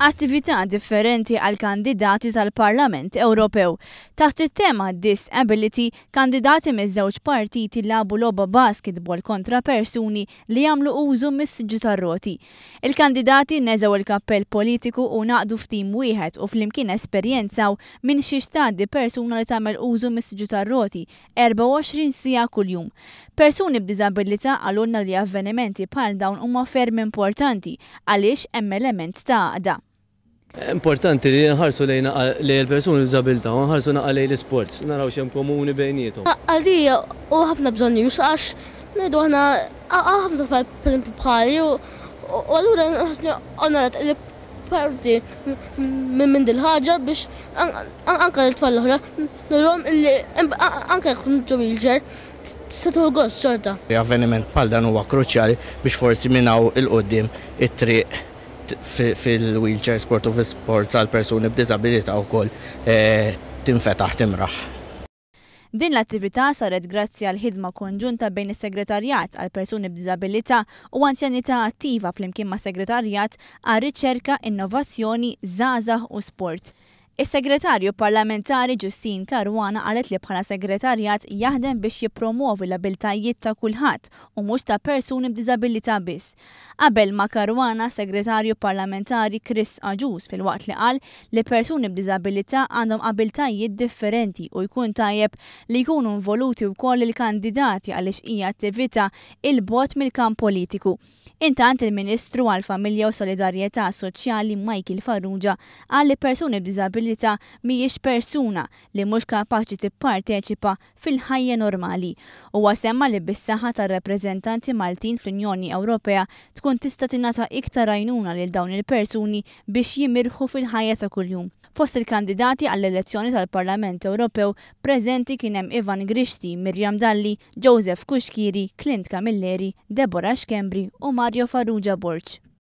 Attività differenti għall-kandidati tal-Parlament Ewropew. Taħt it-tema Disability, kandidati miż-żewġ partiti lagħbu logħba basketball kontra persuni li jagħmlu użu mis-siġġu tar-roti. Il-kandidati neżgħu l-kappell politiku u ngħaqdu f'tim wieħed u flimkien esperjenzaw minn xiex tgħaddi persuna li tagħmel użu mis-siġġu tar-roti 24 siegħa kuljum. Persuni b'diżabilità qalulna li avvenimenti bħal dawn huma ferm importanti għaliex hemm element ta' għaqda. Importanti li nħarsu lejn lejn il-persuni b'diżabilità u nħarsu naqa' lejn l-isports, naraw x'hemm komuni bejniethom. Għalija hu ħafna bżonnjuż għax ngħidu aħna hawn ħafna tfal pereżempju bħali u allura nħossni onorat li parti minn dil-ħaġa biex anke lit-tfal l-oħra Nurhom illi anke jekk tkun ġo wheelchair tista' tieħu gost xorta. Avveniment bħal dan huwa kruċjali biex forsi minn hawn 'il quddiem it-triq fil-wheelchair sport u fi sports għal persuni b'diżabilità wkoll tinfetaħ timraħ. Din l-attività saret grazzi għal ħidma konġunta bejn is-Segretarjat għal Persuni b'Diżabilità u Anzjanità Attiva flimkien mas-Segretarjat għar-Riċerka, Innovazzjoni, Żgħażagħ u Sport. Is-Segretarju Parlamentari Justyne Caruana qalet li bħala segretarjat jaħdem biex jippromwovi l-abiltajiet ta' kulħadd u mhux ta' persuni b'diżabilità biss. Qabel ma' Caruana, Segretarju Parlamentari Chris Agius filwaqt li qal li persuni b'diżabilità għandhom abiltajiet differenti u jkun tajjeb li jkunu involuti wkoll il-kandidati għaliex hija attività 'il bogħod mill-kamp politiku. Intant il-Ministru għall-Familja u Solidarjetà Soċjali Michael Farrugia qal li persuni b'diżabilità mhijiex persuna li mhux kapaċi tipparteċipa fil-ħajja normali. Huwa semma li bis-saħħa tar-rappreżentanti Maltin fl-Unjoni Ewropea tkun tista' tingħata iktar għajnuna lil dawn il-persuni biex jimirħu fil-ħajja ta' kuljum. Fost il-kandidati għall-elezzjoni tal-Parlament Ewropew preżenti kien hemm Ivan Grixti, Miriam Dalli, Joseph Cuschieri, Clint Camilleri, Deborah Schembri u Mario Farrugia Borg.